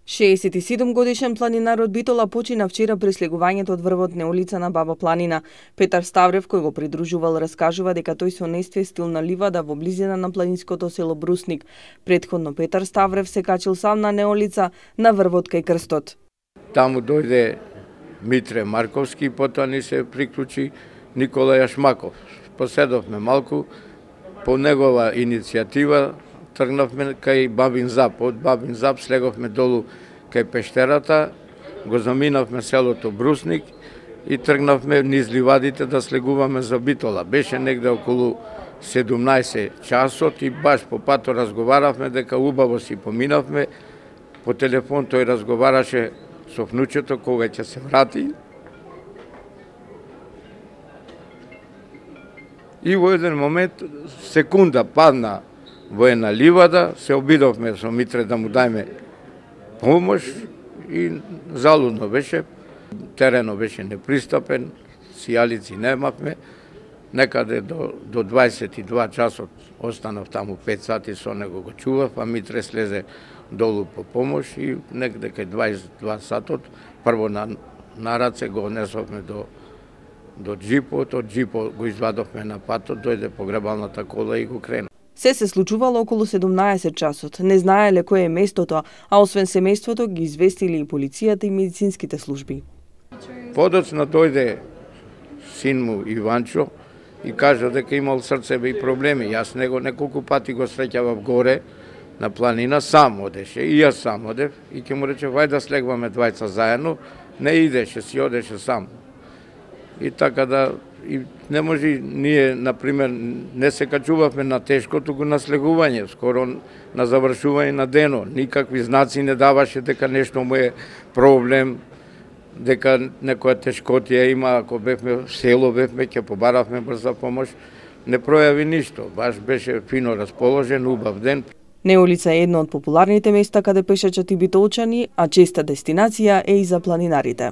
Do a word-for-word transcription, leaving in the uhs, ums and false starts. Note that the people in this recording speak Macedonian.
шеесет и седум годишен планинар од Битола почина вчера при слегувањето од врвот Неолица на Баба планина. Петар Ставрев, кој го придружувал, раскажува дека тој со нествие стил на ливада во близина на планинското село Брусник. Претходно Петар Ставрев се качил сам на Неолица на врвот кај крстот. Таму дојде Митре Марковски, потоа ни се приклучи Никола Јашмаков. Поседовме малку, по негова иницијатива тргнавме кај Бабин Зап. Од Бабин Зап слеговме долу кај пештерата, го заминавме селото Брусник и тргнавме низ ливадите да слегуваме за Битола. Беше негде околу седумнаесет часот и баш по пато разговаравме дека убаво си поминавме. По телефон тој разговараше со внучето кога ќе се врати. И во еден момент, секунда падна во една ливада, се обидовме со Митре да му дајме помош и залудно беше. Теренот беше непристапен, сијалици немавме. Некаде до, до дваесет и два часот останав таму пет сати со него го чував, а Митре слезе долу по помош и некаде кај дваесет и два сатот прво на, на раце го несовме до до джипот, од джипот го извадовме на патот, дојде погребалната кола и го крена. Се се случувало околу седумнаесет часот. Не знаеле кој е местото, а освен семејството ги известили и полицијата и медицинските служби. Подоцна дојде син му Иванчо и кажа дека имал срцеви проблеми. Јас него неколку пати го среќавав горе на планина, сам одеше и јас сам одев и ќе му рече вај да слегваме двајца заедно, не идеше, си одеше сам. И така да и не може ние, например, не се качувавме на тешко, туку на слегување, скоро на завршување на дено. Никакви знаци не даваше дека нешто му е проблем, дека некоја тешкотија има, ако бевме в село, бевме, ќе побаравме брза помош. Не пројави ништо, баш беше фино расположен, убав ден. Неолица е едно од популарните места каде пешачат и битолчани, а честа дестинација е и за планинарите.